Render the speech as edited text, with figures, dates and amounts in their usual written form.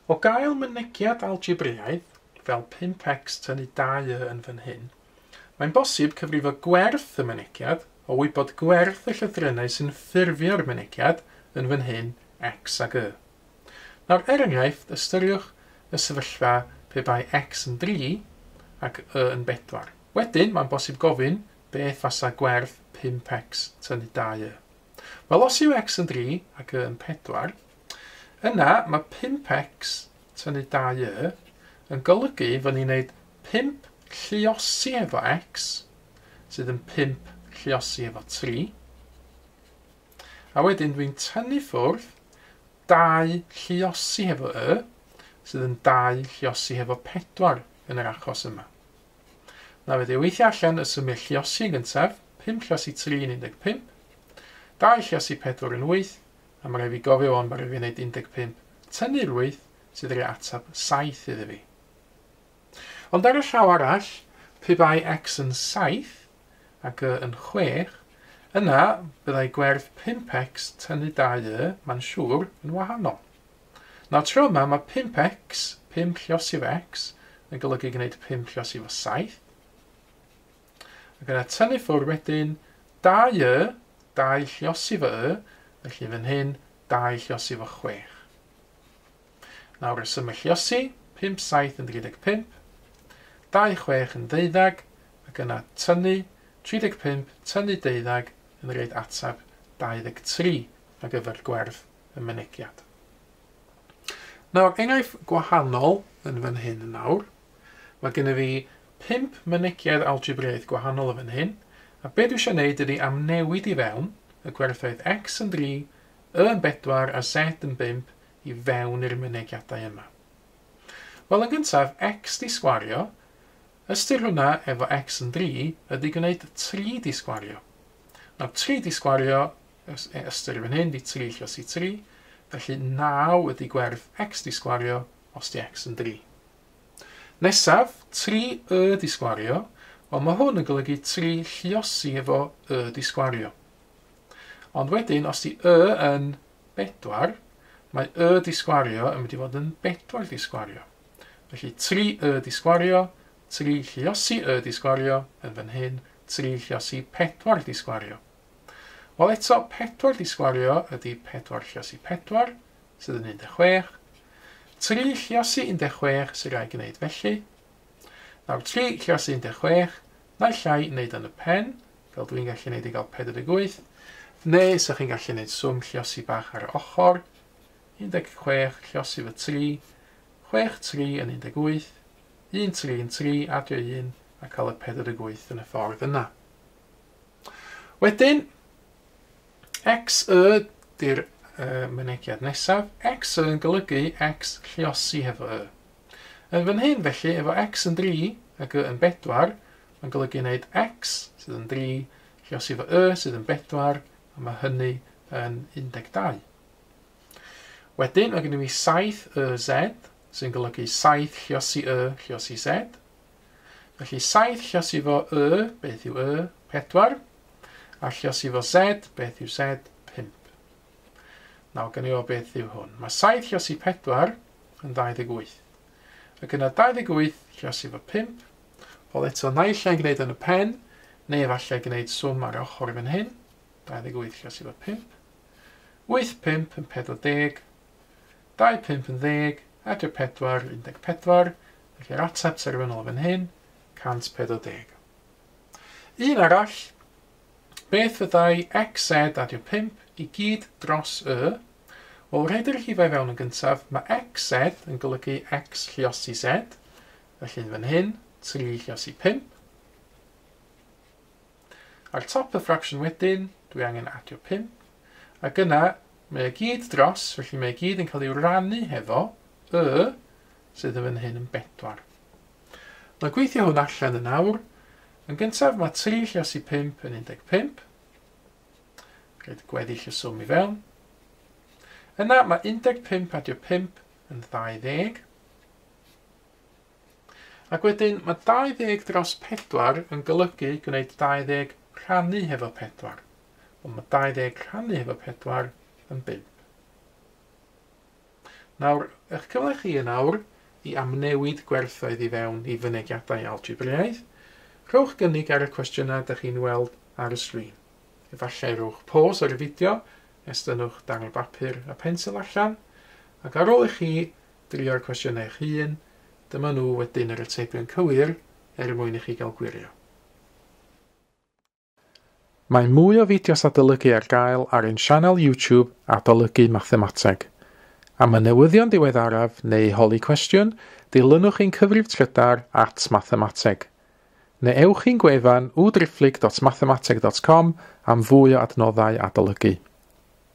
O gael mynegiad algebraidd, fel 5x tynnu 2y yn fan hyn, mae'n bosib cyfrifo gwerth y mynegiad o wybod gwerth y llythrennau sy'n ffurfio'r mynegiad yn fan hyn x ag y. Nawr, er enghraifft, ystyriwch y sefyllfa pe bai x yn 3 ac y yn 4. Wedyn, mae'n bosib gofyn beth fasa gwerth 5x tynnu 2y. Wel, os yw x yn 3 ac y yn 4, yna mae 5x tynnu 2y yn golygu fod ni'n gwneud 5 lluosi efo x, sydd yn 5 lluosi efo 3. A wedyn dwi'n tynnu ffwrdd 2 lluosi efo y, sydd yn 2 lluosi efo 4 yn yr achos yma. Na fe weithio allan y symiau lluosi yn gyntaf, 5 lluosi 3 yn 15, 2 lluosi 4 yn 8, a mae rhaid fi gofio o'n mae rhaid fi wneud 15 tynnu'r 8 sydd rhaid ateb 7 iddi fi. Ond ar y llaw arall, pe bai x yn 7 ac y yn 6, yna byddai gwerth 5x tynnu 2y, mae'n siŵr, yn wahanol. Nawr tro yma mae 5x, 5 lluosi efo x, yn golygu gwneud 5 lluosi efo 7. Ac yna tynnu ffwrdd wedyn 2y, 2 lluosi efo y, felly fan hyn 2 lluosi efo 6. Nawr y symud lluosi, 5, 7 yn 35, 2, 6 yn 12, ac yna tynnu 35, tynnu 12 yn rhaid ateb 23 ar gyfer gwerth y mynegiad. Nawr, enghraifft gwahanol yn fan hyn yn nawr. Mae gennym fi 5 mynegiad algebraidd gwahanol yn fan hyn, a be dwi eisiau gwneud ydy amnewid i fewn y gwerthoedd x yn 3, y yn 4 a z yn 5 i fewn i'r mynegiadau yma. Wel, yn gyntaf, x di sgwario, ystyr hwnna efo x yn 3 ydy gwneud 3 di sgwario. Nawr, 3 di sgwario, ystyr fan hyn di 3 lluosi 3, felly 9 ydy gwerth x di sgwario os di x yn 3. Nesaf, 3y di sgwario, wel mae hwn yn golygu 3 lluosi efo y di sgwario. Ond wedyn, os di y yn 4, mae y di sgwario yn mynd i fod yn 4 di sgwario. Felly 3y di sgwario, 3 lluosi y di sgwario, yn fan hyn 3 lluosi 4 di sgwario. Wel eto, 4 di sgwario ydy 4 lluosi 4, sydd yn 16. 3 lluosi 16 sy'n rhaid gwneud felly. Nawr 3 lluosi 16, naill ai wneud yn y pen, fel dwi'n gallu gwneud i gael 48, neu sa'ch chi'n gallu gwneud swm lluosi bach ar y ochr, 16 lluosi fy 3, 6 3 yn 18, 1 3 yn 3, adio 1, a cael y 48 yn y ffordd yna. Wedyn, x y di'r mynegiad nesaf, x y yn golygu x lluosi hefo y. Yn fan hyn felly, efo x yn 3 ac y yn 4, mae'n golygu wneud x sydd yn 3, lluosi efo y sydd yn 4, a mae hynny yn 12. Wedyn, mae gennym ni 7 y z, sy'n golygu 7 lluosi y lluosi z. Felly 7 lluosi efo y, beth yw y? 4. A lluosi efo z, beth yw z? 5. Nawr, gan i o beth yw hwn. Mae 7 lluosi 4 yn 28. Ac yna 28 lluosi efo 5. Wel eto, naill ai'n gwneud yn y pen, neu efallai gwneud swm ar ochr fan hyn. 28 lluosi efo 5. 8, 5 yn 40, 2, 5 yn 10, adio 4, 14, felly'r ateb terfynol fan hyn, 140. Un arall, beth fyddai xz adio 5 i gyd dros y? Wel, rhaid i'r rhifau fewn yn gyntaf, mae xz yn golygu x lluosi z, felly fan hyn, 3 lluosi 5. Ar top y ffracsiwn wedyn, dwi angen adio 5. Ac yna, mae o gyd dros, felly mae o gyd yn cael ei rannu hefo y, sydd yn fan hyn yn 4. Nawr gweithio hwn allan yn awr. Yn gyntaf, mae 3 lluosi 5 yn 15. Rhaid gweddill y swm i fewn. Yna, mae 15 adio 5 yn 20. Ac wedyn, mae 20 dros 4 yn golygu gwneud 20 rhannu hefo 4. Wel, mae 20 rhannu hefo 4 yn 5. Nawr, eich cyfle chi yn awr i amnewid gwerthoedd i fewn i fynegiadau algebraidd. Rhowch gynnig ar y cwestiynau ydych chi'n weld ar y sgrin. Efallai rhowch pause ar y fideo, estynnwch darn o bapur a pensel allan, ac ar ôl i chi drio'r cwestiynau eich hun, dyma nhw wedyn yr atebion cywir er mwyn i chi gael gwirio. Mae mwy o fideos adolygu ar gael ar ein sianel YouTube Adolygu Mathemateg. Am y newyddion diweddaraf neu holi cwestiwn, dilynwch ein cyfrif trydar @mathemateg. Neu ewch i'n gwefan www.mathemateg.com am fwy o adnoddau adolygu.